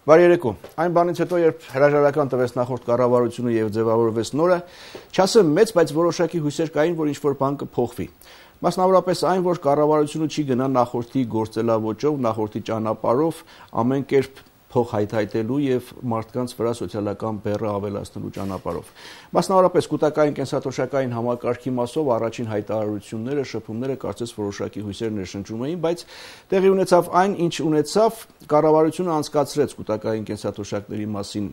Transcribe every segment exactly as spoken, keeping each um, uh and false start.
Բարի երեկո։ Այն բանից հետո, երբ հրաժարական տվեց նախորդ կառավարությունը եւ ձևավորվեց նորը, չասեմ մեծ, բայց որոշակի հույսեր կային, որ ինչ-որ բան կփոխվի։ Մասնավորապես այն, որ կառավարությունը չի գնա նախորդի գործելավոճով, նախորդի ճանապարհով, ամեն կերպ փող հայթայթելու եւ մարդկանց վրա սոցիալական բեռը ավելացնելու ճանապարհով։ Մասնավորապես կൂട്ടակային կենսաթոշակային համակարգի մասով առաջին հայտարարությունները, շփումները կարծես որոշակի հույսեր ներշնչում էին, բայց տեղի ունեցավ այն, ինչ ունեցավ, կառավարությունը անցկացրեց կൂട്ടակային կենսաթոշակների մասին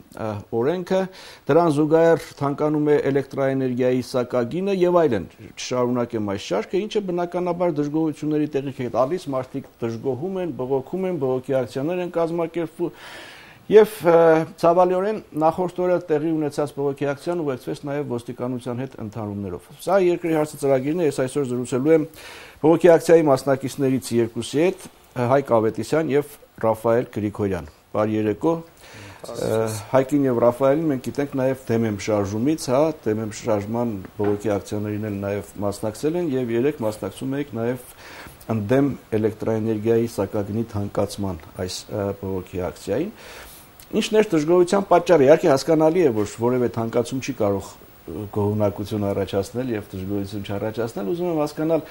օրենքը, դրան զուգահեռ թանկանում է էլեկտրաէներգիայի սակագինը եւ այլն։ Շարունակեմ այս շարքը, ինչը բնականաբար դժգոհությունների տեղիք է տալիս, մարդիկ դժգոհում են, բողոքում են, բողոքի ակցիաներ են կազմակերպվում։ Եվ ցավալիորեն նախորդ օրը տեղի ունեցած բողոքի ակցիան ուղեկցվեց նաև ոստիկանության հետ ընդհանումներով։ Սա երկրի հարցը ծրագիրն է, ես այսօր զրուցելու եմ բողոքի ակցիայի մասնակիցներից երկուսի հետ, Հայկ Ավետիսյան եւ Ռաֆայել Գրիգորյան։ Բարի երեկո։ Հայկին եւ Ռաֆայելին մենք գիտենք նաև դեմեմ շարժումից, հա, դեմեմ շարժման բողոքի ակցիաներին էլ նաև մասնակցել են եւ երեք մասնակցում եք նաև ընդդեմ էլեկտրաէներգիայի սակագնի թանկացման այս բողոքի ակցիային։ Ինչն էր դժգոհության պատճառը։ Իհարկե հասկանալի է, որ որևէ թանկացում չի կարող գոհունակություն առաջացնել եւ դժգոհություն չառաջացնել։ Ուզում եմ հասկանալ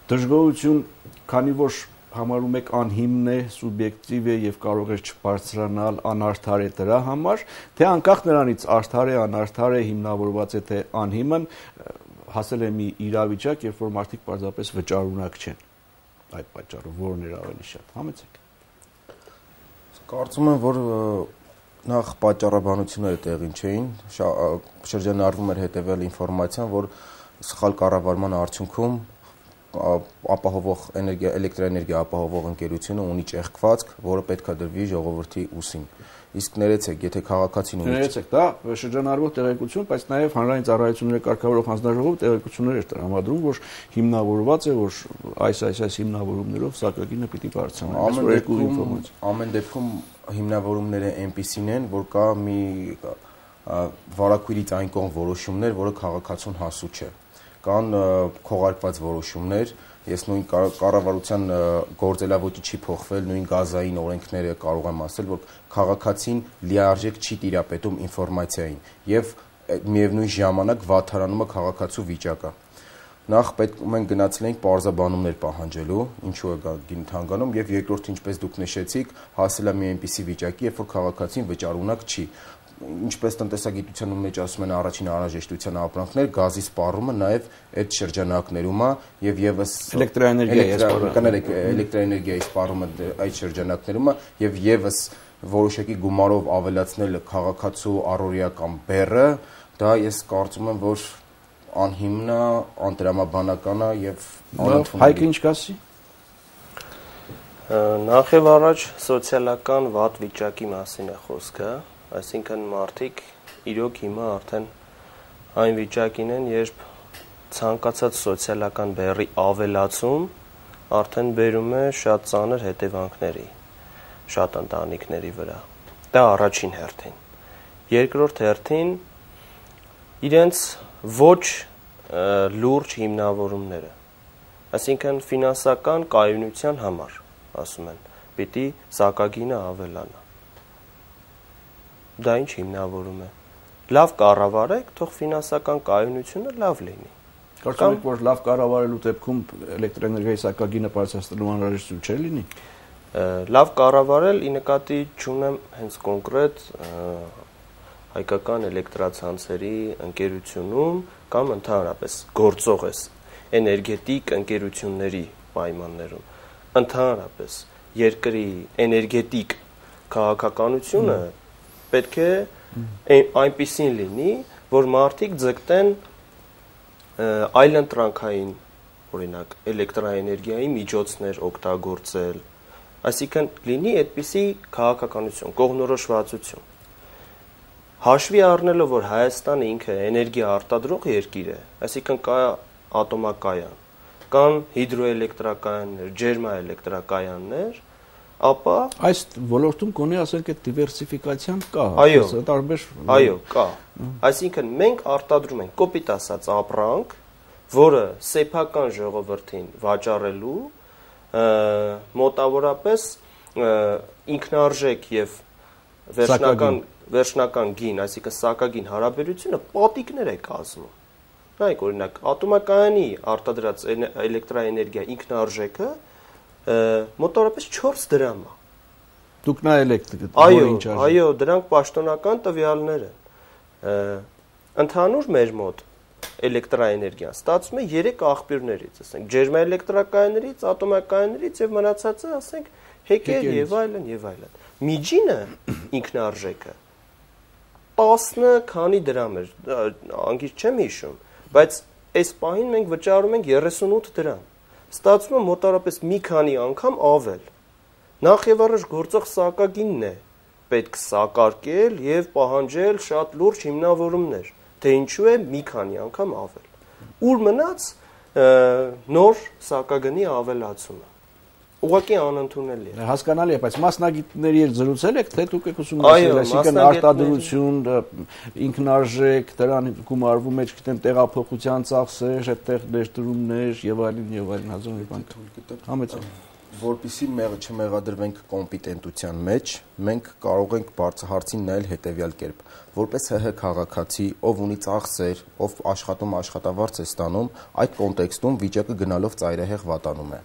դժգոհություն, քանի որ համարում եք անհիմն է, սուբյեկտիվ է եւ կարող է չբարձրանալ, անարդար է դրա համար, թե անկախ նրանից արդար է, անարդար է, հիմնավորված է թե անհիմն, հասել է մի իրավիճակ, երբ որ մարդիկ պարզապես վճարունակ չեն։ Այդ պատճառով որն էր ավելի շատ, համեցեք։ Կարծում եմ, որ նախ պատճառաբանությունները տեղին չէին, շրջանառվում էր հետևել ինֆորմացիան, որ սխալ կառավարման արդյունքում ապահովող էներգիա, էլեկտրաէներգիա ապահովող ընկերությունը ունի ճեղքվածք, որը պետք է դրվի ժողովրդի ուսին։ Իսկ ներեցեք, եթե քաղաքացին ունի ներեցեք, դա շրջանառվող տեղեկություն, բայց նաև հանրային ծառայությունների կարգավորող հանձնաժողովը տեղեկություններ էր տրամադրում, որ հիմնավորված է, որ այս այս այս հիմնավորումներով սակագինը պիտի բարձրանա։ Ամեն դեպքում հիմնավորումները այնպիսին են, որ կա մի վարակույրից այն կողմ որոշումներ, որը քաղաքացուն հասու չէ։ Կան քողարկված որոշումներ, ես նույն կառավարության գործելավոճի չի փոխվել, նույն գազային օրենքները կարող եմ ասել, որ քաղաքացին լիարժեք չի տիրապետում ինֆորմացիային եւ միևնույն ժամանակ վատթարանում է քաղաքացու վիճակը։ Նախ պետք մենք գնացել ենք պարզաբանումներ պահանջելու, ինչու է գինը թանկանում, եւ երկրորդ, ինչպես դուք նշեցիք, հասել է մի այնպիսի վիճակի, երբ որ քաղաքացին վճարունակ չի։ Ինչպես տնտեսագիտության մեջ ասում են առաջին անհրաժեշտության ապրանքներ, գազի սպառումը նաև այդ շրջանակներում է եւ եւս էլեկտրաէներգիայի սպառումը այդ շրջանակներում է եւ եւս որոշակի գումարով ավելացնել քաղաքացու առօրյական բեռը, դա ես կարծում եմ, որ անհիմն է, անտրամաբանական է եւ անընդունելի։ Հայկ ինչ կասի։ Նախ եւ առաջ սոցիալական վատ վիճակի մասին է խոսքը։ Այսինքն մարդիկ իրոք հիմա արդեն այն վիճակին են, երբ ցանկացած սոցիալական բեռի ավելացում արդեն բերում է շատ ծանր հետևանքների, շատ ընտանիքների վրա։ Դա առաջին հերթին։ Երկրորդ հերթին իրենց ոչ լուրջ հիմնավորումները, այսինքն ֆինանսական կայունության համար, ասում են, պիտի սակագինը ավելանա։ Դա ինչ հիմնավորում է։ Լավ կառավարեք, թող ֆինանսական կայունությունը լավ լինի։ Կարծում եք, որ լավ կառավարելու դեպքում էլեկտրաէներգիայի սակագինը բարձրացնելու անհրաժեշտություն չէ լինի։ Լավ կառավարել ի նկատի չունեմ հենց կոնկրետ հայկական էլեկտրացանցերի ընկերությունում կամ ընդհանրապես գործող է էներգետիկ ընկերությունների պայմաններում։ Ընդհանրապես երկրի էներգետիկ քաղաքականությունը պետք է այնպիսին լինի, որ մարդիկ ձգտեն այլընտրանքային, օրինակ, էլեկտրաէներգիայի միջոցներ օգտագործել, այսինքն լինի այդպիսի քաղաքականություն, կողմնորոշվածություն։ Հաշվի առնելով, որ Հայաստանը ինքը էներգիա արտադրող երկիր է, այսինքն կա ատոմակայան, կան հիդրոէլեկտրակայաններ, ջերմաէլեկտրակայաններ, ապա այս ոլորտում կոնի ասենք այդ դիվերսիֆիկացիան կա, այո, տարբեր այո, կա։ Այսինքն մենք արտադրում ենք կոպիտ ասած ապրանք, որը սեփական ժողովրդին վաճառելու մոտավորապես ինքնարժեք եւ վերջնական վերջնական գին, այսինքն սակագին հարաբերությունը պատիկներ է կազմում։ Նայեք օրինակ, ատոմակայանի արտադրած էլեկտրաէներգիա ինքնարժեքը մոտավորապես չորս դրամ է։ Դուք նայել եք դե այո, այո, դրանք պաշտոնական տվյալներ են։ Ընդհանուր մեր մոտ էլեկտրաէներգիան ստացվում է երեք աղբյուրներից, ասենք ջերմաէլեկտրակայաններից, ատոմակայաներից եւ մնացածը, ասենք հեկեր եւ այլն եւ այլն։ Միջինը ինքնարժեքը տասը քանի դրամ էր, անգիր չեմ հիշում, բայց այս պահին մենք վճարում ենք երեսունութ դրամ։ Ստացվում է մոտավորապես մի քանի անգամ ավել։ Նախ եւ առաջ գործող սակագինն է պետք սակարկել եւ պահանջել շատ լուրջ հիմնավորումներ, թե ինչու է մի քանի անգամ ավել։ Ուր մնաց նոր սակագնի ավելացումը։ Ուղղակի անընդունելի է։ Հասկանալի է, բայց մասնագետների հետ զրուցել եք, թե դուք եք ուսումնասիրել, այսինքն արտադրություն, ինքնարժեք, դրան գումարվում է, չգիտեմ, տեղափոխության ծախսեր, այդտեղ ներդրումներ եւ այլն եւ այլն հազար մի բան։ Համեցեք։ Որպեսզի մեղը չմեղադրվենք կոմպետենտության մեջ, մենք կարող ենք հարցին նայել հետևյալ կերպ։ Որպես ՀՀ քաղաքացի, ով ունի ծախսեր, ով աշխատում աշխատավարձ է ստանում, այդ կոնտեքստում վիճակը գնալով ծայրահեղ վատանում է։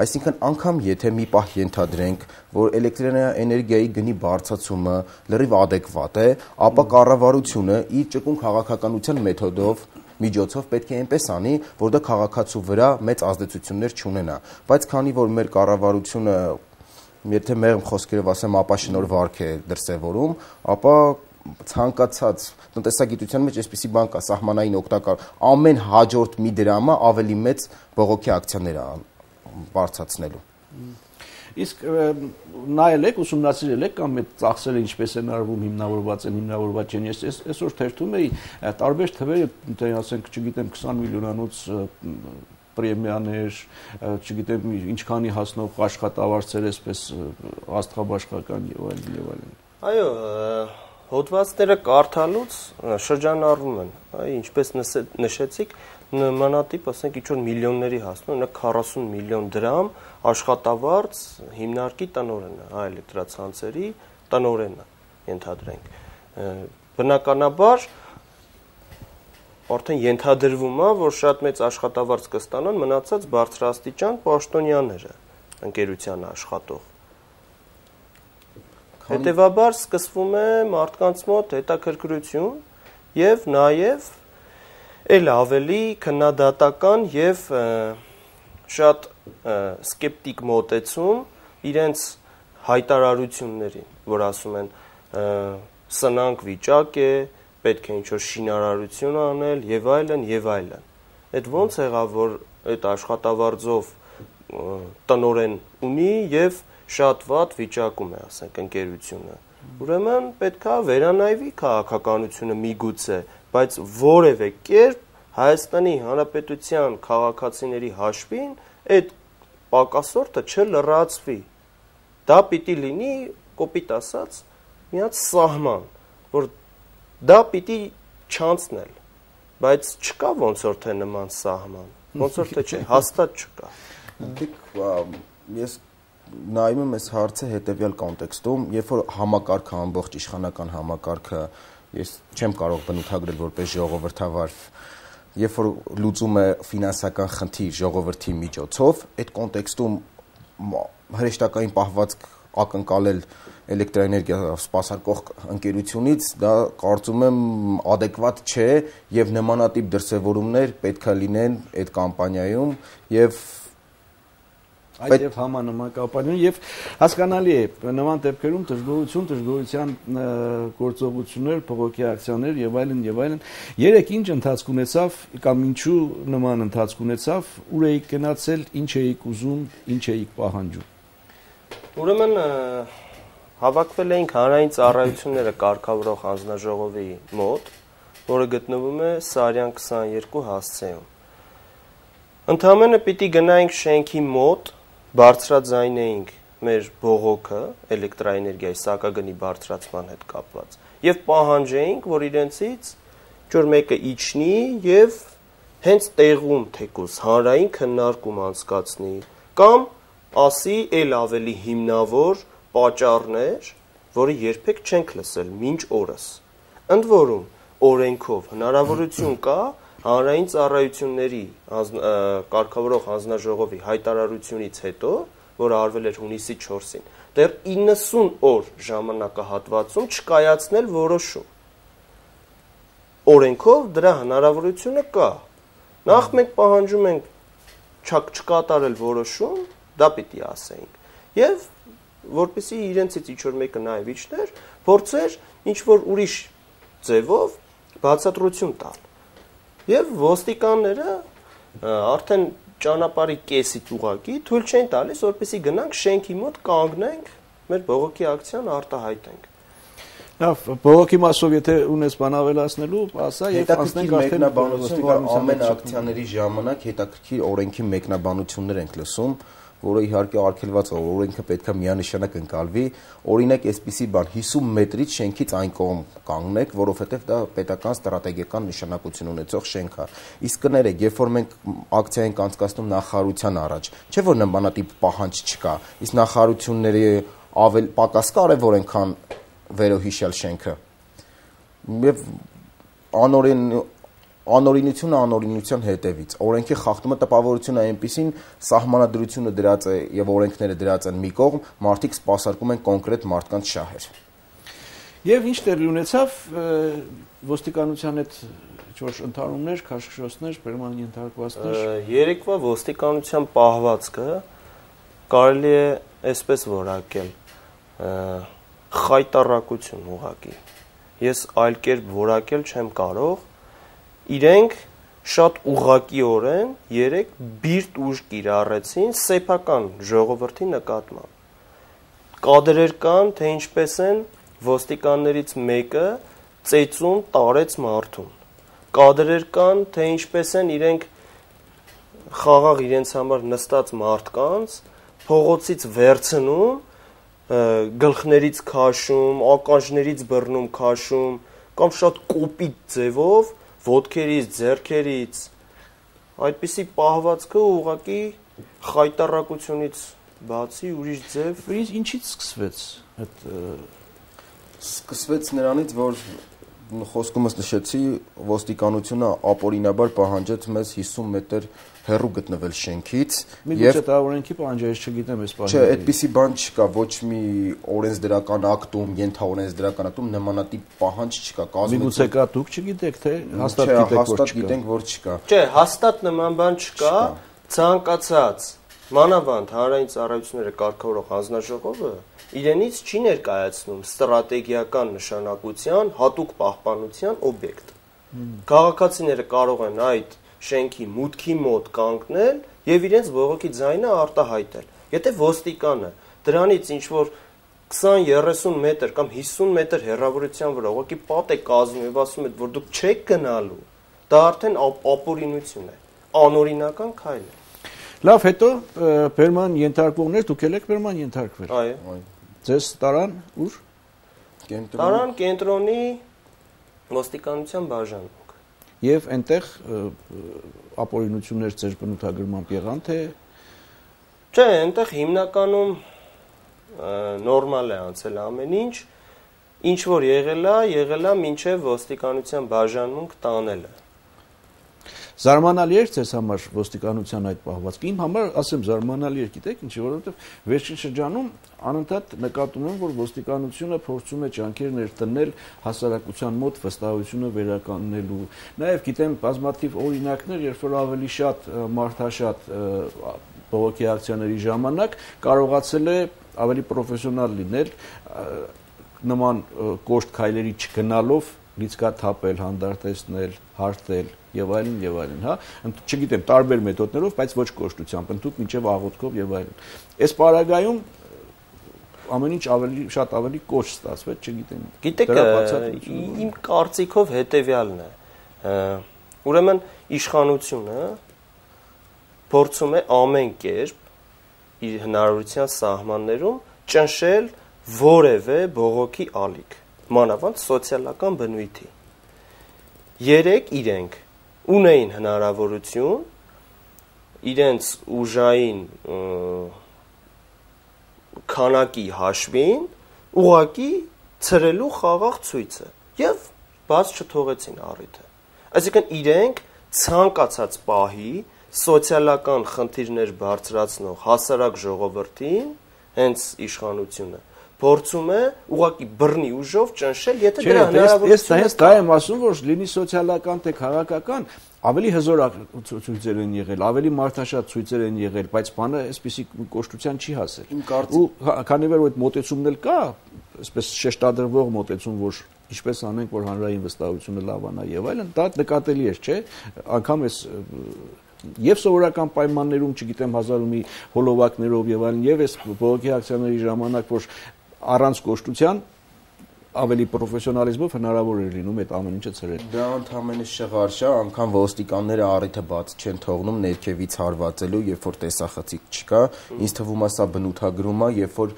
Այսինքն, անգամ եթե մի պահ ենթադրենք, որ էլեկտրաէներգիայի գնի բարձրացումը լրիվ adekvat է, ապա կառավարությունը իր ճկուն քաղաքականության մեթոդով միջոցով պետք է այնպես անի, որ դա քաղաքացու վրա մեծ ազդեցություններ չունենա, բայց քանի որ մեր կառավարությունը, եթե մեղմ խոսքերով ասեմ, ապաշնոր վարք է դրսևորում, ապա ցանկացած տնտեսագիտության մեջ այսպիսի բան կա, սահմանային օգտակար ամեն հաջորդ մի դրամը ավելի մեծ բողոքի ակցիաներ է բարձրացնելու։ Իսկ նայել եք, ուսումնասիրել եք կամ այդ ծախսերը ինչպես են արվում, հիմնավորված են, հիմնավորված չեն։ Ես այսօր թերթում էի տարբեր թվեր, ասենք, չգիտեմ, քսան միլիոնանոց պրեմիաներ, չգիտեմ, ինչքանի հասնող աշխատավարձեր, այսպես աստղաբաշխական եւ այլն եւ այլն։ Այո, հոդվածները կարդալուց շրջանառվում են, ինչպես նշեցիք, նմանատիպ, ասենք, ինչ-որ միլիոնների հասնում, նա քառասուն միլիոն դրամ աշխատավարձ հիմնարկի տնօրենը, հա էլեկտրացանցերի տնօրենը, ենթադրենք։ Բնականաբար արդեն ենթադրվում է, որ շատ մեծ աշխատավարձ կստանան մնացած բարձրաստիճան պաշտոնյաները, ընկերության աշխատող։ Հետևաբար սկսվում է մարդկանց մոտ հետաքրքրություն եւ նաեւ էլ ավելի քննադատական եւ շատ սկեպտիկ մոտեցում իրենց հայտարարություններին, որ ասում են սնանկ վիճակ է, պետք է ինչ-որ շինարարություն անել եւ այլն եւ այլն։ Այդ ոնց եղավ, որ այդ աշխատավարձով տնօրեն ունի եւ շատ վատ վիճակում է, ասենք, ընկերությունը։ Ուրեմն պետքա վերանայվի քաղաքականությունը միգուցե, բայց որևէ կերպ Հայաստանի Հանրապետության քաղաքացիների հաշվին այդ պակասորտը չլրացվի։ Դա պիտի լինի, կոպիտ ասած, մի հատ սահման, որ դա պիտի չանցնել, բայց չկա ոնց որ թե նման սահման, ոնց որ թե չէ, հաստատ չկա։ Ես նայում եմ այս հարցը հետևյալ կոնտեքստում, երբ որ համակարգը ամբողջ իշխանական համակարգը ես չեմ կարող բնութագրել որպես ժողովրդավար, երբ որ լուծում է ֆինանսական խնդիր ժողովրդի միջոցով, այդ կոնտեքստում հրեշտակային պահվածք ակնկալել էլեկտրաէներգիա սպասարկող ընկերությունից, դա կարծում եմ adekvat չէ եւ նմանատիպ դրսևորումներ պետքա լինեն այդ կամպանիայում եւ այդ եւ համանման կապանյուն եւ հասկանալի է նման դեպքերում դժգոհություն, դժգոհության գործողություններ, փողոքի ակցիաներ եւ այլն եւ այլն։ Երեք ինչ ընթացք ունեցավ կամ ինչու նման ընթացք ունեցավ, ուր էիք գնացել, ինչ էիք ուզում, ինչ էիք պահանջում։ Ուրեմն հավաքվել էինք հանրային ծառայությունները կարգավորող հանձնաժողովի մոտ, որը գտնվում է Սարյան քսաներկու հասցեում։ Ընդհանրապես պիտի գնայինք շենքի մոտ, բարձրաձայնեինք մեր բողոքը էլեկտրաէներգիայի սակագնի բարձրացման հետ կապված եւ պահանջեինք, որ իրենցից ինչ-որ մեկը իջնի եւ հենց տեղում թեկուզ հանրային քննարկում անցկացնի կամ ասի էլ ավելի հիմնավոր պատճառներ, որը երբեք չենք լսել մինչ օրս։ Ընդ որում, օրենքով հնարավորություն կա հանրային ծառայությունների կարգավորող հանձնաժողովի հայտարարությունից հետո, որը արվել էր հունիսի չորսին, դեռ իննսուն օր ժամանակահատվածում չկայացնել որոշում։ Օրենքով դրա հնարավորությունը կա։ Նախ մենք պահանջում ենք չկատարել որոշում, դա պիտի ասեինք։ Եվ որպեսզի իրենցից ինչ-որ մեկը նաև իջներ, փորձեր ինչ-որ ուրիշ ձևով բացատրություն տալ։ Եվ ոստիկանները արդեն ճանապարհի կեսից ուղակի թույլ չեն տալիս, որպեսզի գնանք շենքի մոտ կանգնենք, մեր բողոքի ակցիան արտահայտենք։ Լավ, բողոքի մասով եթե ունես բան ավելացնելու, ասա եւ անցնենք արդեն մեկնաբանություն, ամեն ակցիաների ժամանակ հետաքրքիր օրենքի մեկնաբանություններ ենք լսում, որը իհարկե արգելված է, օրենքը պետքա միանշանակ ընկալվի, օրինակ այսպիսի բան հիսուն մետրից շենքից այն կողմ կանգնեք, որովհետև դա պետական ստրատեգիական նշանակություն ունեցող շենք է։ Իսկ կներեք, երբ որ մենք ակցիա ենք անցկացնում նախարարության առաջ, չէ՞ որ նմանատիպ պահանջ չկա, իսկ նախարարությունների ավել պակաս կարևոր են, քան վերոհիշյալ շենքը։ Եվ անօրեն Անօրինությունը անօրինության հետևից օրենքի խախտումը տպավորությունը այնպեսին սահմանադրությունը դրած է եւ օրենքները դրած են մի կողմ, մարդիկ սպասարկում են կոնկրետ մարդկանց շահեր։ Եվ ինչ տեղի ունեցավ ոստիկանության հետ ինչ-որ ընդհանումներ, քաշքշոցներ, բերման ենթարկվածներ։ Երեկվա ոստիկանության պահվածքը կարելի է այսպես որակել խայտառակություն ուղղակի։ Ես այլ կերպ որակել չեմ կարող։ Իրենք շատ ուղղակիորեն երեք բիրտ ուժ կիրառեցին սեփական ժողովրդի նկատմամբ։ Կադրեր կան, թե ինչպես են ոստիկաններից մեկը ծեծում տարեց մարդուն։ Կադրեր կան, թե ինչպես են իրենք խաղաղ իրենց համար նստած մարդկանց փողոցից վերցնում, գլխներից քաշում, ականջներից բռնում, քաշում, կամ շատ կոպիտ ձևով ոտքերից, ձեռքերից, այդպիսի պահվածքը ուղղակի խայտառակությունից բացի ուրիշ ձև։ Իսկ ինչից սկսվեց այդ սկսվեց նրանից, որ խոսքումս նշեցի, ոստիկանությունը ապօրինաբար պահանջեց մեզ հիսուն մետր հեռու գտնվել շենքից եւ այդ օրենքի պահանջը չգիտեմ այս պահանջը։ Չէ, այդպիսի բան չկա, ոչ մի օրենսդրական ակտում, ենթաօրենսդրական ակտում նմանատիպ պահանջ չկա։ Միգուցե կա դուք չգիտեք, թե հաստատ գիտեք, որ հաստատ գիտենք, որ չկա։ Չէ, հաստատ նման բան չկա, ցանկացած մանավանդ հանրային ծառայությունները կարգավորող հանձնաժողովը իրենից չի ներկայացնում ստրատեգիական նշանակության հատուկ պահպանության օբյեկտ։ Քաղաքացիները կարող են այդ շենքի մուտքի մոտ կանգնել եւ իրենց բողոքի ձայնը արտահայտել։ Եթե ոստիկանը դրանից ինչ որ քսան երեսուն մետր կամ հիսուն մետր հեռավորության վրա ուղղակի պատ է կազմում եւ ասում է, որ դուք չեք գնալու, դա արդեն ապօրինություն է, անօրինական քայլ է։ Լավ, հետո բերման ենթարկվողներ դուք եք բերման ենթարկվել։ Այո։ Ձեզ տարան ուր։ Տարան կենտրոնի ոստիկանության բաժանում։ Եվ այնտեղ ապօրինություններ ձեր բնութագրմամբ եղան, թե չէ, այնտեղ հիմնականում նորմալ է անցել ամեն ինչ, ինչ որ եղել է, եղել է մինչև ոստիկանության բաժանմունք տանելը։ Զարմանալի էր ձեզ համար ոստիկանության այդ պահվածքը։ Իմ համար, ասեմ, զարմանալի էր, գիտեք, ինչի, որովհետև վերջին շրջանում անընդհատ նկատում եմ, որ ոստիկանությունը փորձում է ջանքեր ներդնել հասարակության մոտ վստահությունը վերականգնելու։ Նաև գիտեմ բազմաթիվ օրինակներ, երբ որ ավելի շատ մարդաշատ բողոքի ակցիաների ժամանակ կարողացել է ավելի պրոֆեսիոնալ լինել, նման կոշտ քայլերի չգնալով լիցքա թափել, հանդարտեցնել, հարթել եւ այլն եւ այլն, հա, չգիտեմ, տարբեր մեթոդներով, բայց ոչ կոշտությամբ, ընդհանուր մինչեւ աղոթքով եւ այլն։ Այս պարագայում ամեն ինչ ավելի շատ ավելի կոշտ ստացվեց, չգիտեմ։ Գիտեք, իմ կարծիքով հետեւյալն է։ Ուրեմն իշխանությունը փորձում է ամեն կերպ իր հնարավորության սահմաններում ճնշել որևէ բողոքի ալիք, մանավանդ սոցիալական բնույթի։ Երեք իրենք ունեին հնարավորություն իրենց ուժային քանակի հաշվին ուղակի ցրելու խաղաղ ցույցը եւ բաց չթողեցին առիթը։ Այսինքն իրենք ցանկացած պահի սոցիալական խնդիրներ բարձրացնող հասարակ ժողովրդին հենց իշխանությունը փորձում է ուղղակի բռնի ուժով ճնշել, եթե դրա հնարավորությունը կա։ Ես դա եմ ասում, որ լինի սոցիալական թե քաղաքական, ավելի հզոր ցույցեր են եղել, ավելի մարդաշատ ցույցեր են եղել, բայց բանը այսպեսի կոշտության չի հասել։ Ու քանի որ այդ մոտեցումն էլ կա, այսպես շեշտադրվող մոտեցում, որ ինչպես անենք, որ հանրային վստահությունը լավանա եւ այլն, դա նկատելի է, չէ՞։ Անկամ էս եւ սովորական պայմաններում, չգիտեմ, հազար ու մի հոլովակներով եւ այլն, եւ այս բողոքի ակցիաների ժամանակ, որ առանց կոշտության ավելի պրոֆեսիոնալիզմով հնարավոր է լինում այդ ամեն ինչը ցրել։ Դա ընդհանրապես շղարշ է, անգամ ոստիկանները առիթը բաց չեն թողնում ներքևից հարվածելու, երբ որ տեսախցիկ չկա, ինձ թվում է սա բնութագրում է, երբ որ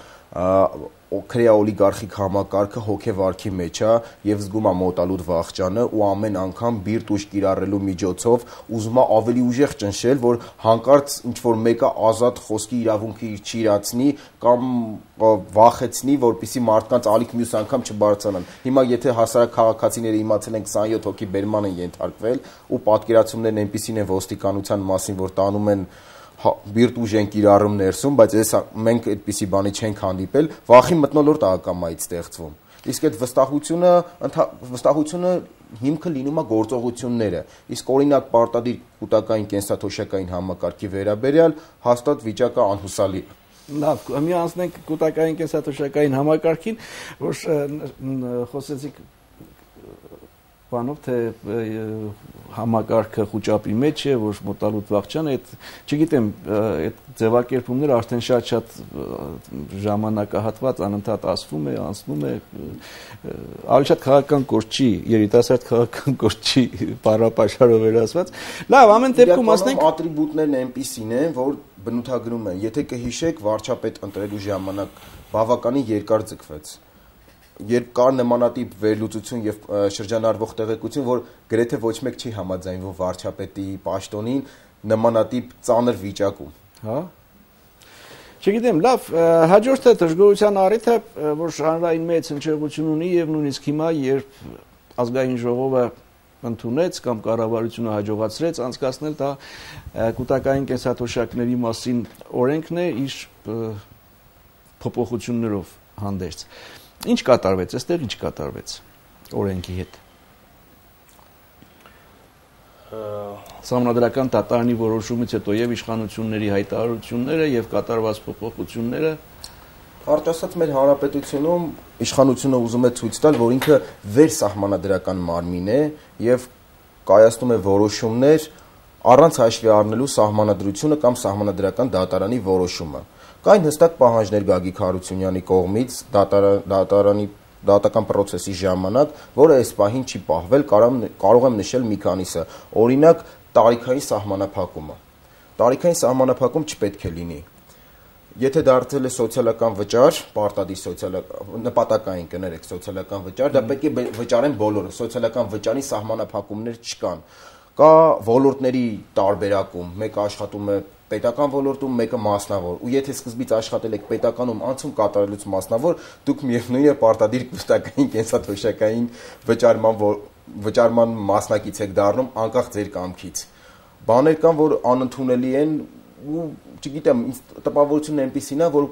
քրեա օլիգարխիկ համակարգը հոգեվարքի մեջ է եւ զգում է մոտալուտ վախճանը ու ամեն անգամ բիրտ ուժ կիրառելու միջոցով ուզում է ավելի ուժեղ ճնշել, որ հանկարծ ինչ որ մեկը ազատ խոսքի իրավունքը իր չիրացնի կամ վախեցնի, որպեսզի մարդկանց ալիք մյուս անգամ չբարձրանան։ Հիմա եթե հասարակ քաղաքացիները իմացել են քսանյոթ հոգի բերման են ենթարկվել ու պատկերացումներն այնպիսին են ոստիկանության մասին, որ տանում են բիրտ ուժ են կիրառում ներսում, բայց ես մենք այդպիսի բանի չենք հանդիպել, վախի մթնոլորտ ակամայից ստեղծվում։ Իսկ այդ վստահությունը, վստահությունը հիմքը լինում է գործողությունները։ Իսկ օրինակ պարտադիր կൂട്ടակային կենսաթոշակային համակարգի վերաբերյալ հաստատ վիճակը անհուսալի է։ Լավ, մի անցնենք կൂട്ടակային կենսաթոշակային համակարգին, որ խոսեցիք բանով թե համակարգը խոճապի մեջ է, որ մոտալուտ վախճան է, չգիտեմ, այդ ձևակերպումները արդեն շատ-շատ ժամանակահատված անընդհատ ասվում է, անցնում է, ավելի շատ քաղաքական կորչի, երիտասարդ քաղաքական կորչի բառապաշարով վերածված։ Լավ, ամեն դեպքում ասենք ատրիբուտներն այնպիսին են, որ բնութագրում են։ Եթե կհիշեք, վարչապետ ընտրելու ժամանակ բավականին երկար ձգվեց։ Երբ կար նմանատիպ վերլուծություն եւ շրջանառվող տեղեկություն, որ գրեթե ոչ մեկ չի համաձայնվում վարչապետի պաշտոնին նմանատիպ ծանր վիճակում։ Հա։ Չգիտեմ, լավ, հաջորդը դժգոհության առիթը, որ հանրային մեծ հնչեղություն ունի եւ նույնիսկ հիմա, երբ ազգային ժողովը ընդունեց կամ կառավարությունը հաջողացրեց անցկացնել դա կൂട്ടակային կենսաթոշակների մասին օրենքն է իր փոփոխություններով հանդերձ։ Ինչ կատարվեց, այստեղ ինչ կատարվեց օրենքի հետ։ Սահմանադրական դատարանի որոշումից հետո եւ իշխանությունների հայտարարությունները եւ կատարված փոփոխությունները, Կարճ ասած, մեր հանրապետությունում իշխանությունը ուզում է ցույց տալ, որ ինքը վերսահմանադրական մարմին է եւ կայացնում է որոշումներ առանց հաշվի առնելու սահմանադրությունը կամ սահմանադրական դատարանի որոշումը։ Կային հստակ պահանջներ Գագիկ Հարությունյանի կողմից դատարանի դատական process-ի ժամանակ, որը այս պահին չի պահվել, կարող եմ նշել մի քանիսը։ Օրինակ, տարիքային սահմանափակումը։ Տարիքային սահմանափակում չպետք է լինի։ Եթե դարձել է սոցիալական վճար, պարտադիր սոցիալական նպատակային կներեք սոցիալական վճար, դա պետք է վճարեն բոլորը, սոցիալական վճարի սահմանափակումներ չկան։ Կա ոլորտների տարբերակում, մեկը աշխատում է պետական ոլորտում, մեկը մասնավոր, ու եթե սկզբից աշխատել եք պետականում, անցում կատարելուց մասնավոր, դուք միևնույն է պարտադիր կուտակային կենսաթոշակային վճարման վճարման մասնակից եք դառնում անկախ ձեր կամքից։ Բաներ կան, որ անընդունելի են ու չգիտեմ, տպավորությունն այնպեսին է, որ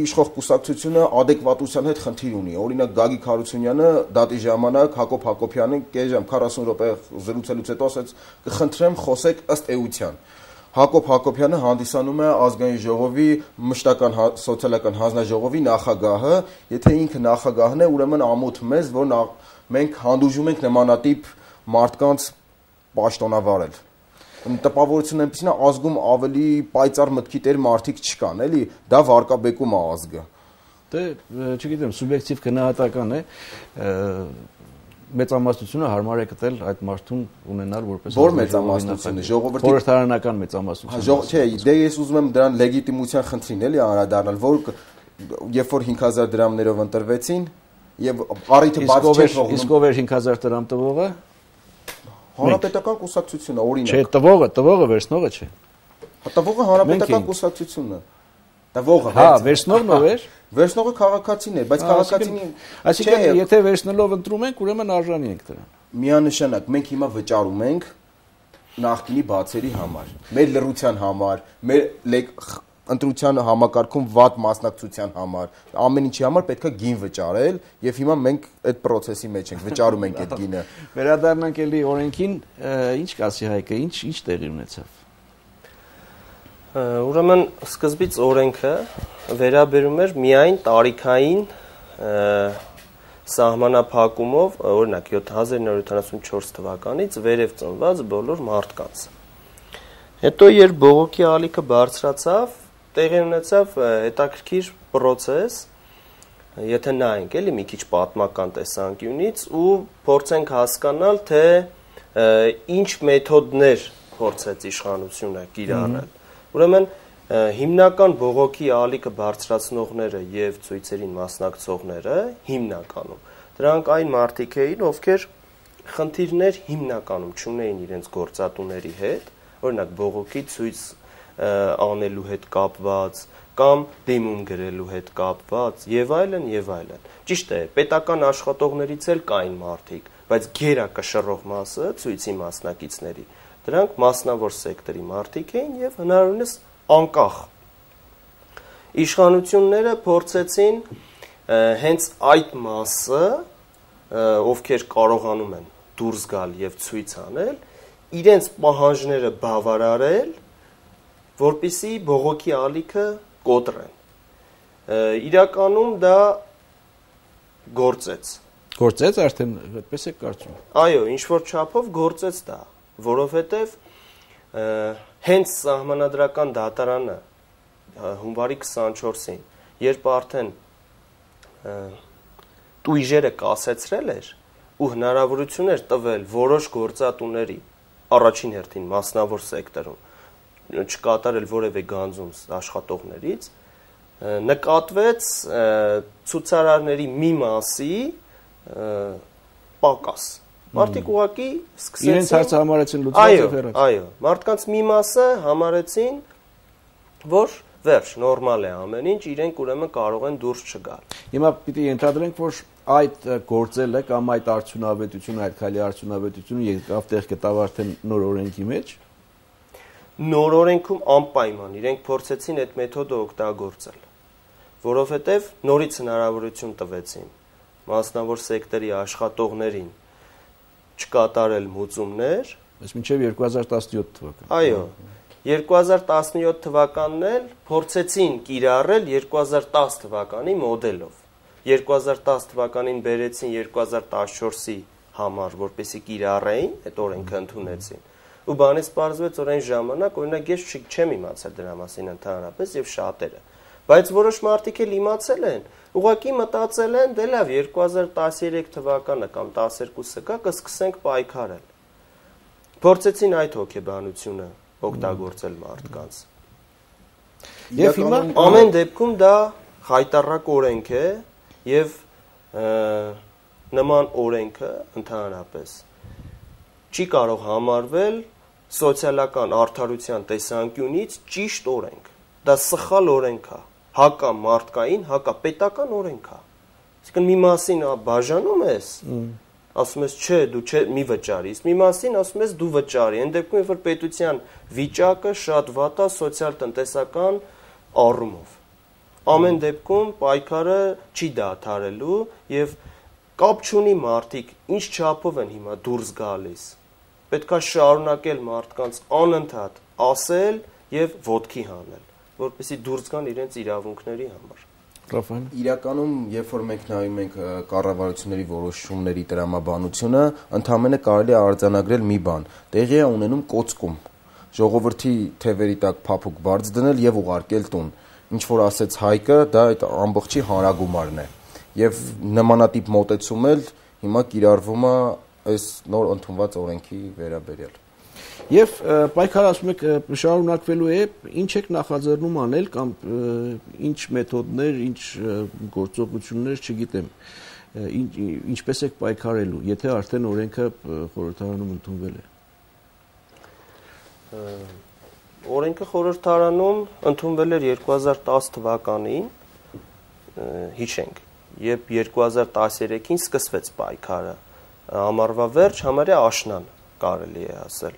իշխող կուսակցությունը adekvatության հետ խնդիր ունի։ Օրինակ Գագիկ Հարությունյանը դատի ժամանակ Հակոբ Հակոբյանին կես քառասուն րոպե զրուցելուց հետո ասաց կխնդրեմ խոսեք ըստ էության։ Հակոբ Հակոբյանը հանդիսանում է ազգային ժողովի մշտական սոցիալական հանձնաժողովի նախագահը, եթե ինքը նախագահն է, ուրեմն ամոթ մեզ, որ մենք հանդուրժում ենք նմանատիպ մարդկանց պաշտոնավարել։ Տպավորությունն այնպեսին է, ազգում ավելի պայծառ մտքի տեր մարդիկ չկան, էլի, դա վարկաբեկում է ազգը։ Դե, չգիտեմ, սուբյեկտիվ գնահատական է, մեծամասնությունը հարմար է գտել այդ մարդուն ունենալ որպես Որ մեծամասնությունը, ժողովրդի խորհրդարանական մեծամասնությունը։ Չէ, դե ես ուզում եմ դրան լեգիտիմության խնդրին էլի անդրադառնալ, որ երբ որ հինգ հազար դրամներով ընտրվեցին եւ առիթը բաց չէ թողնում։ Իսկ ով էր հինգ հազար դրամ տվողը։ Հանրապետական կուսակցությունը, օրինակ։ Չէ, տվողը, տվողը վերցնողը չէ։ Տվողը հանրապետական կուսակցությունն է։ Դա ողը Հա, վերցնողն ով էր։ Վերցնողը քաղաքացին էր, բայց քաղաքացին, այսինքն եթե վերցնելով ընտրում ենք, ուրեմն արժանի ենք դրան։ Միանշանակ մենք հիմա վճարում ենք նախկինի բացերի համար, մեր լռության համար, մեր ընտրության համակարգում վատ մասնակցության համար, ամեն ինչի համար պետք է գին վճարել եւ հիմա մենք այդ process-ի մեջ ենք, վճարում ենք այդ գինը։ Վերադառնանք էլի օրենքին, ինչ կասի Հայկը, ինչ ինչ տեղի ունեցավ։ Ուրեմն սկզբից օրենքը վերաբերում էր միայն տարիքային սահմանափակումով, օրինակ հազար նորը յոթանասունչորս թվականից վերև ծնված բոլոր մարդկանց։ Հետո երբ բողոքի ալիքը բարձրացավ, տեղի ունեցավ հետաքրքիր process, եթե նայենք էլի մի քիչ պատմական տեսանկյունից ու փորձենք հասկանալ, թե ինչ մեթոդներ փորձեց իշխանությունը կիրառել։ Ուրեմն հիմնական բողոքի ալիքը բարձրացնողները եւ ցույցերին մասնակցողները հիմնականում դրանք այն մարդիկ էին, ովքեր խնդիրներ հիմնականում չունեին իրենց գործատուների հետ, օրինակ բողոքի ցույց անելու հետ կապված կամ դիմում գրելու հետ կապված եւ այլն եւ այլն։ Ճիշտ է, պետական աշխատողներից էլ կային մարդիկ, բայց գերակշռող մասը ցույցի մասնակիցների դրանք մասնավոր սեկտորի մարդիկ էին եւ հնարավորինս անկախ։ Իշխանությունները փորձեցին հենց այդ մասը, ովքեր կարողանում են դուրս գալ եւ ցույց անել, իրենց պահանջները բավարարել, որպեսզի բողոքի ալիքը կոտրեն։ Իրականում դա գործեց։ Գործեց արդեն, այդպես է կարծում։ Այո, ինչ որ չափով գործեց դա, որովհետեւ հենց սահմանադրական դատարանը հունվարի քսանչորսին, երբ արդեն տույժերը կասեցրել էր ու հնարավորություն էր տվել որոշ գործատուների առաջին հերթին մասնավոր սեկտորում չկատարել որևէ գանձում աշխատողներից, նկատվեց ցուցարարների մի մասի պակաս։ Մարդիկ ուղղակի սկսեցին իրենց հարցը համարեցին լուծված եւ հեռացան։ Այո, մարդկանց մի մասը համարեցին, որ վերջ, նորմալ է ամեն ինչ, իրենք ուրեմն կարող են դուրս չգալ։ Հիմա պիտի ենթադրենք, որ այդ գործելը կամ այդ արդյունավետությունը, այդ քայլի արդյունավետությունը եկավ տեղ գտավ արդեն նոր օրենքի մեջ։ Նոր օրենքում անպայման իրենք փորձեցին այդ մեթոդը օգտագործել, որովհետև նորից հնարավորություն տվեցին մասնավոր սեկտորի աշխատողներին չկատարել մուծումներ, բայց մինչև երկու հազար տասնյոթ թվական։ Այո, երկու հազար տասնյոթ թվականն էլ փորձեցին կիրառել երկու հազար տաս թվականի մոդելով։ երկու հազար տաս թվականին բերեցին երկու հազար տասնչորսի համար, որպեսզի կիրառեին, այդ օրենքը ընդունեցին։ Ու բանից պարզվեց, որ այն ժամանակ, օրինակ ես չեմ իմացել դրա մասին ընդհանրապես եւ շատերը։ Բայց որոշ մարդիկ էլ իմացել են, ուղղակի մտածել են, դե լավ, երկու հազար տասներեք թվականը կամ տասներկուսը կա, կսկսենք պայքարել։ Փորձեցին այդ հոգեբանությունը օգտագործել մարդկանց։ Եվ հիմա ամեն դեպքում դա խայտառակ օրենք է եւ նման օրենքը ընդհանրապես չի կարող համարվել սոցիալական արդարության տեսանկյունից ճիշտ օրենք։ Դա սխալ օրենք է, հակա մարդկային, հակա պետական օրենք է։ Այսինքն մի մասին բաժանում ես, ասում ես չէ, դու չէ մի վճարի, իսկ մի մասին ասում ես դու վճարի։ Այն դեպքում երբ որ պետության վիճակը շատ վատ է սոցիալ-տնտեսական առումով։ Ամեն դեպքում պայքարը չի դադարելու եւ կապ չունի մարդիկ ինչ չափով են հիմա դուրս գալիս։ Պետքա շարունակել մարդկանց անընդհատ ասել եւ ոտքի հանել, որպեսզի դուրս գան իրենց իրավունքների համար։ Ռաֆայել, իրականում, երբ որ մենք նայում ենք կառավարությունների որոշումների տրամաբանությունը, ընդհանրապես կարելի է արձանագրել մի բան. տեղի է ունենում կոծկում, ժողովրդի թևերի տակ փափուկ բարձ դնել եւ ուղարկել տուն։ Ինչ որ ասեց Հայկը, դա այդ ամբողջի հանրագումարն է։ Եվ նմանատիպ մոտեցում էլ հիմա կիրառվում է այս նոր ընդունված օրենքի վերաբերյալ։ Եվ պայքարը ասում եք շարունակվելու է, ինչ եք նախաձեռնում անել կամ ինչ մեթոդներ, ինչ գործողություններ, չգիտեմ, ինչպես եք պայքարելու, եթե արդեն օրենքը խորհրդարանում ընդունվել է։ օրենքը խորհրդարանում ընդունվել էր երկու հազար տասը թվականին, հիշենք, երբ երկու հազար տասներեքին սկսվեց պայքարը, ամառվա վերջ համարյա աշնան կարելի է ասել։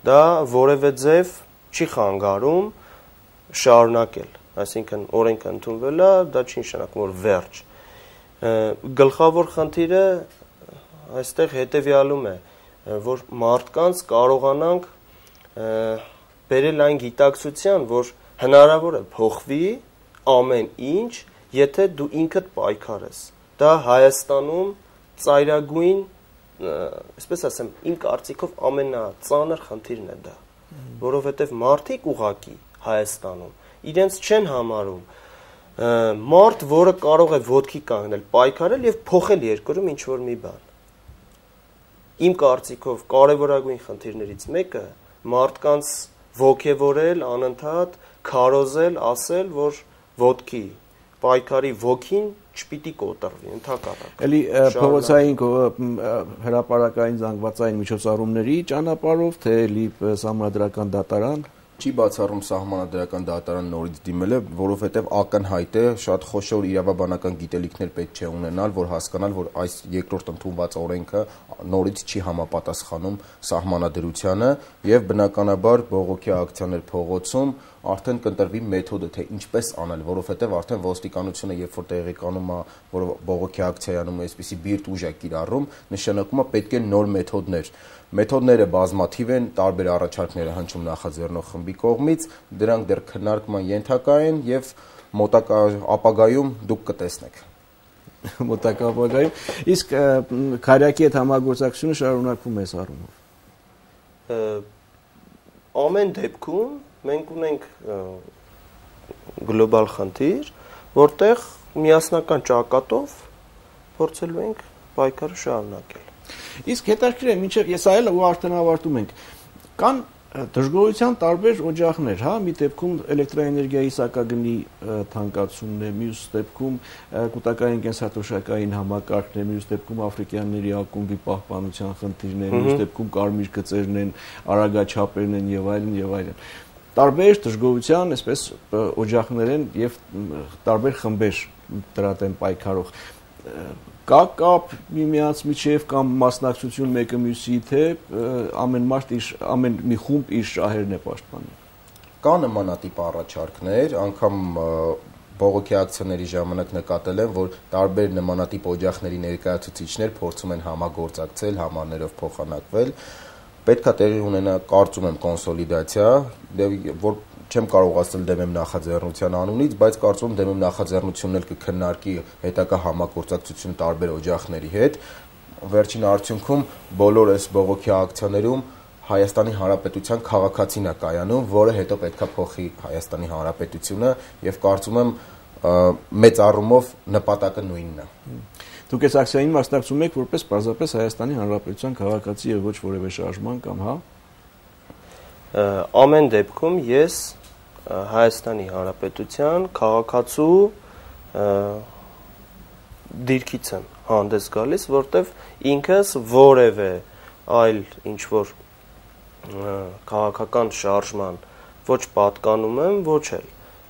Դա որևէ ձև չի խանգարում շարունակել, այսինքն օրենքը ընդունվել է, դա չի նշանակում որ վերջ։ Գլխավոր խնդիրը այստեղ հետևյալում է, որ մարդկանց կարողանանք բերել այն գիտակցության, որ հնարավոր է փոխվի ամեն ինչ, եթե դու ինքդ պայքարես։ Դա Հայաստանում ծայրագույն, այսպես ասեմ, իմ կարծիքով ամենածանր խնդիրն է դա, որովհետև մարդիկ ուղակի Հայաստանում իրենց չեն համարում մարդ, որը կարող է ոտքի կանգնել, պայքարել եւ փոխել երկրում ինչ որ մի բան։ Իմ կարծիքով կարևորագույն խնդիրներից մեկը մարդկանց ոգևորել, անընդհատ քարոզել, ասել, որ ոտքի պայքարի ոգին չպիտի կոտրվի, ընդհակառակը։ Էլի փողոցային հրապարակային զանգվածային միջոցառումների ճանապարհով, թե էլի սահմանադրական դատարան չի բացառում սահմանադրական դատարան նորից դիմելը, որովհետև ակնհայտ է, շատ խոշոր իրավաբանական գիտելիքներ պետք չէ ունենալ, որ հասկանալ, որ այս երկրորդ ընդունված օրենքը նորից չի համապատասխանում սահմանադրությանը եւ բնականաբար բողոքի ակցիաներ փողոցում արդեն կընտրվի մեթոդը, թե ինչպես անել, որովհետև արդեն ոստիկանությունը երբ որ տեղեկանում է, որ բողոքի ակցիայանում այսպիսի բիրտ ուժ է կիրառում, նշանակում է պետք է նոր մեթոդներ։ Մեթոդները բազմաթիվ են, տարբեր առաջարկներ է հնչում նախաձեռնող խմբի կողմից, դրանք դեռ քննարկման ենթակա են եւ մոտակա ապագայում դուք կտեսնեք։ Մոտակա ապագայում, իսկ քարյակի հետ համագործակցությունը շարունակվում է առումով։ Ամեն դեպքում մենք ունենք գլոբալ խնդիր, որտեղ միասնական ճակատով փորձելու ենք պայքարը շարունակել։ Իսկ հետաքրքիր է, մինչև ես այլ ու արդեն ավարտում ենք, կան դժգոհության տարբեր օջախներ, հա, մի դեպքում էլեկտրաէներգիայի սակագնի թանկացումն է, մյուս դեպքում կൂട്ടակային կենսաթոշակային համակարգն է, մյուս դեպքում աֆրիկյանների ակումբի պահպանության խնդիրն է, մյուս դեպքում կարմիր գծերն են, արագաչափերն են եւ այլն եւ այլն։ Տարբեր դժգոհության, այսպես օջախներ են եւ տարբեր խմբեր դրա դեմ պայքարող։ Կա կապ միմյանց միջև կամ մասնակցություն մեկը մյուսի, թե ամեն մարդ իր ամեն մի խումբ իր շահերն է պաշտպանում։ Կա նմանատիպ առաջարկներ, անգամ բողոքի ակցիաների ժամանակ նկատել եմ, որ տարբեր նմանատիպ օջախների ներկայացուցիչներ փորձում են համագործակցել, համարներով փոխանակվել։ Պետք է տեղի ունենա, կարծում եմ, կոնսոլիդացիա, որ չեմ կարող ասել դեմ եմ նախաձեռնության անունից, բայց կարծում եմ դեմ եմ նախաձեռնությունն էլ կքննարկի հետագա համագործակցություն տարբեր օջախների հետ։ Վերջին արդյունքում բոլոր այս բողոքի ակցիաներում Հայաստանի Հանրապետության քաղաքացին է կայանում, որը հետո պետքա փոխի Հայաստանի Հանրապետությունը եւ կարծում եմ մեծ առումով նպատակը նույնն է։ Դուք այս ակցիային մասնակցում եք որպես պարզապես Հայաստանի Հանրապետության քաղաքացի եւ ոչ որևէ շարժման կամ հա։ Ամեն դեպքում ես Հայաստանի Հանրապետության քաղաքացու դիրքից եմ հանդես գալիս, որտեվ ինքս որևէ այլ ինչ որ քաղաքական շարժման ոչ պատկանում եմ, ոչ էլ։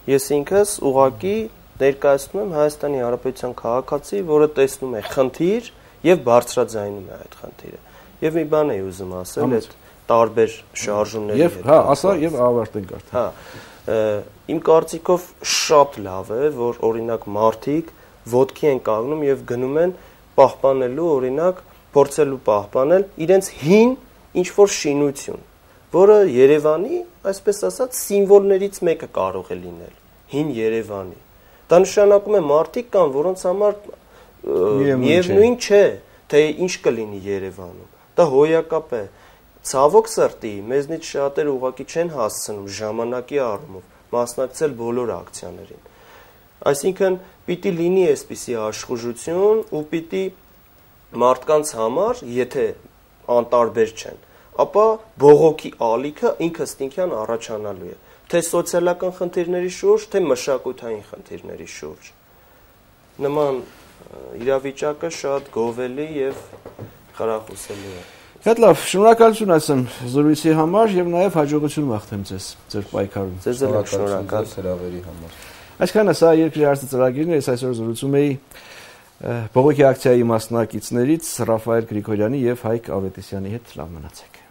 Ես ինքս ուղղակի ներկայացնում եմ Հայաստանի Հանրապետության քաղաքացի, որը տեսնում է խնդիր եւ բարձրաձայնում է այդ խնդիրը։ Եվ մի բան էի ուզում ասել, այդ տարբեր շարժումների հետ։ Եվ հա, ասա եւ ավարտենք արդեն։ Հա, իմ կարծիքով շատ լավ է, որ օրինակ մարդիկ ոտքի են կանգնում եւ գնում են պահպանելու, օրինակ, փորձելու պահպանել իրենց հին ինչ որ շինություն, որը Երևանի, այսպես ասած, սիմվոլներից մեկը կարող է լինել, հին Երևանի։ Դա նշանակում է մարդիկ կան, որոնց համար միևնույն չէ, թե ինչ կլինի Երևանում։ Դա հոյակապ է։ Ցավոք սրտի, մեզնից շատերը ուղղակի չեն հասցնում ժամանակի առումով մասնակցել բոլոր ակցիաներին։ Այսինքն պիտի լինի այսպիսի աշխուժություն ու պիտի մարդկանց համար, եթե անտարբեր չեն, ապա բողոքի ալիքը ինքստինքյան առաջանալու է, թե սոցիալական խնդիրների շուրջ, թե մշակութային խնդիրների շուրջ։ Նման իրավիճակը շատ գովելի եւ խրախուսելի է։ Շատ լավ, շնորհակալություն ասեմ զրույցի համար եւ նաեւ հաջողություն մաղթեմ ձեզ ձեր պայքարում։ Ձեզ էլ շնորհակալ հրավերի համար։ Այսքանը սա երկրի հարցը ծրագիրն է, ես այսօր զրուցում էի բողոքի ակցիայի մասնակիցներից Ռաֆայել Գրիգորյանի եւ Հայկ Ավետիսյանի հետ։ Լավ մնացեք։